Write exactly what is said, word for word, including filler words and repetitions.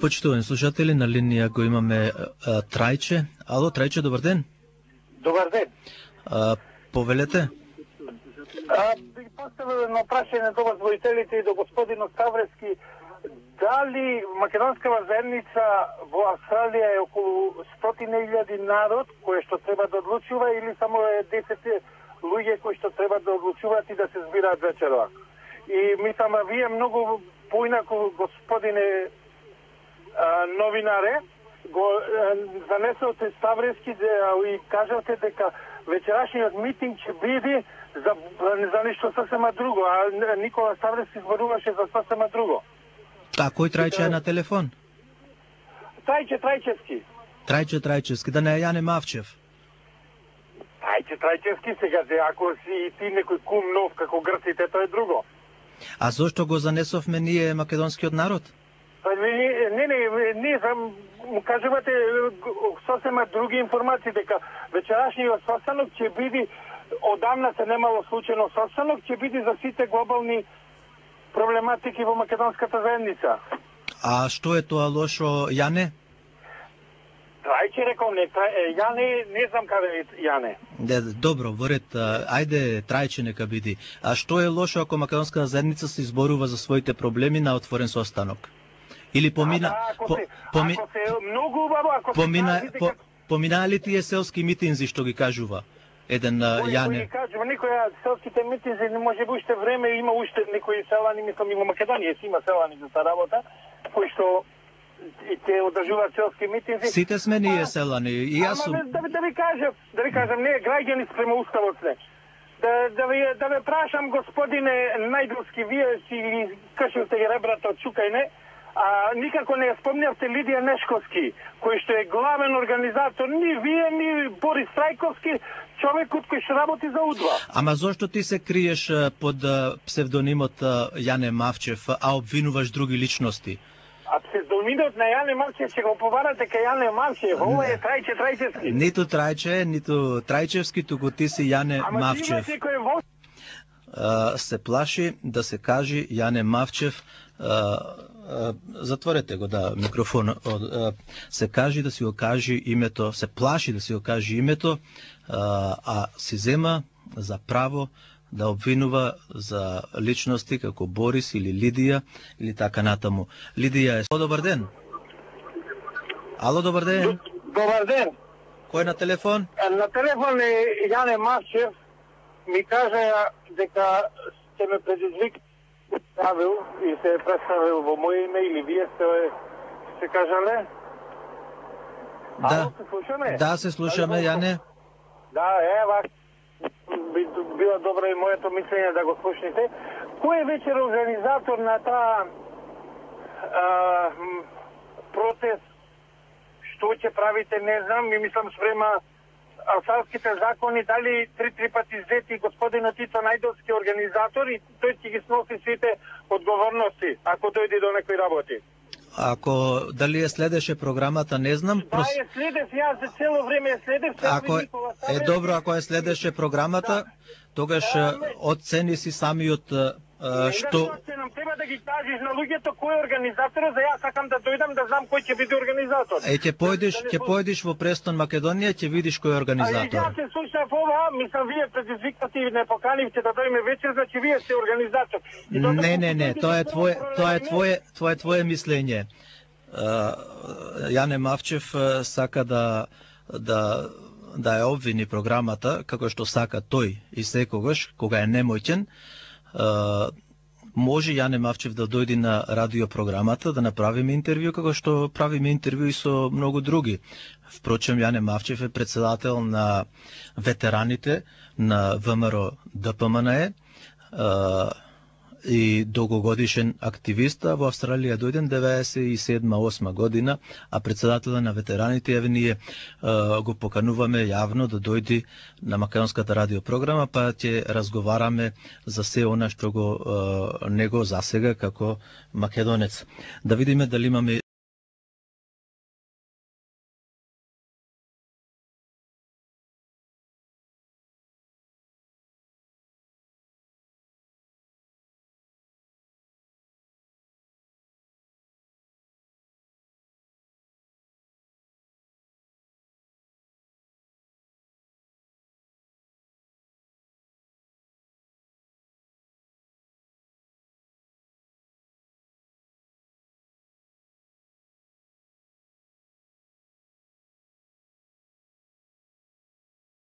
Почитувани слушатели, на линија го имаме а, Трајче. Ало, Трајче, добар ден. Добар ден. А, повелете? А, би поставил едно прашање до возводителите и до господинот Ставрески. Дали македонскава заедница во Австралија е околу стотина илјади народ кој што треба да одлучува или само е десет луѓе кои што треба да одлучуваат и да се збираат вечерва? И мислам, а вие многу поинаку, господине а, новинаре, го а, занесовте Ставрески да, и кажавте дека вечерашниот митинг ќе биде за, за нешто сосема друго, а Никола Ставрески зборуваше за сосема друго. А кој Трајче е на телефон? Трајче Трајчевски. Трајче Трајчевски, да не е Јане Мавчев. Трајче Трајчевски сега, ако си ти некој кум нов како грците, тоа е друго. А зошто го занесовме ние македонскиот народ? Па не, не, не, не знам, му кажувате сосема други информации, дека вечерашниот состанок ќе биде, одамна се немало случајно состанок, ќе биде за сите глобални проблематики во македонската заедница. А што е тоа лошо, Јане? Трајче рекол, не, трај, Јане, не знам каде е Јане. Не, добро, во ред, ајде Трајче нека биде. А што е лошо ако македонската заедница се изборува за своите проблеми на отворен состанок? Или помина... А, да, ако, по, се, поми, ако се многу убаво, ако помина, се по, поминаа ли тие селски митинзи што ги кажува еден Јане? Кој кажува, никој селските митинзи не може би уште време, има уште некои селани, мислам и во Македонија си има селани за таа работа, кои што и те одржуваат селски митинзи. Сите сме ние селани, и јас сум... Ама да, да ви кажам, да ви кажам, не граѓани спрема уставот сме. Да, да, ви, да ве прашам, господине Најдовски, вие си кашилте ребрата од Чукајне, а никако не спомнявте Лидија Нешковски, кој што е главен организатор, ни вие, ни Борис Трајковски, човекот кој што работи за УДВА. Ама зошто ти се криеш под псевдонимот Јане Мавчев, а обвинуваш други личности? А псевдонимот на Јане Мавчев ќе го поварате кај Јане Мавчев, ова е Трајче Трајчевски. Ниту Трајче, ниту Трајчевски, туку ти си Јане Ама Мавчев. Ама ти имаш Uh, се плаши да се кажи Јане Мавчев, uh, uh, затворете го да микрофон, uh, се кажи да си го кажи името, се плаши да си го кажи името, uh, а си зема за право да обвинува за личности како Борис или Лидија или така натаму. Лидија е... Добар ден. Ало, добар ден. Добар ден. Кој е на телефон? На телефон е Јане Мавчев. Ми кажа дека сте ме предизвикал и се е представил во моје име или вие сте се кажале? Да. Ало, се слушаме? Да, се слушаме, Јане. Да, ева, би било добро и моето мислење да го слушнете. Кој е вечер организатор на таа протест? Што ќе правите, не знам, ми мислам спрема австралските закони, дали три-три пати зети господинот Тито Најдовски организатор и тој ќе ги сноси сите одговорности, ако дојде до некои работи. Ако дали е следеше програмата, не знам. Да, е следев, јас за цело време е следев. Ако е, е добро, ако е следеше програмата, да. Тогаш оцени си самиот Uh, што... Нам треба да ги кажеш на луѓето кој е организаторот, за јас сакам да дојдам да знам кој ќе биде организатор. Е, ќе појдеш, ќе појдеш во Престон, Македонија, ќе видиш кој е организатор. А јас се слушав ова, мислам вие предизвикате и не поканивте да дојме вечер, значи вие сте организатор. Не, не, не, тоа е твое, тоа е твое, тоа е твое мислење. Uh, Јане Мавчев uh, сака да да да ја обвини програмата како што сака тој и секогаш кога е немоќен. Uh, може Јане Мавчев да дојде на радиопрограмата да направиме интервју како што правиме интервју и со многу други. Впрочем, Јане Мавчев е председател на ветераните на ВМРО ДПМНЕ uh, и долгогодишен активист, а во Австралија дојден деветдесет и седма осма година, а председателот на ветераните, еве ние uh, го покануваме јавно да дојде на македонската радиопрограма, па ќе разговараме за се она што го uh, него засега како македонец. Да видиме дали имаме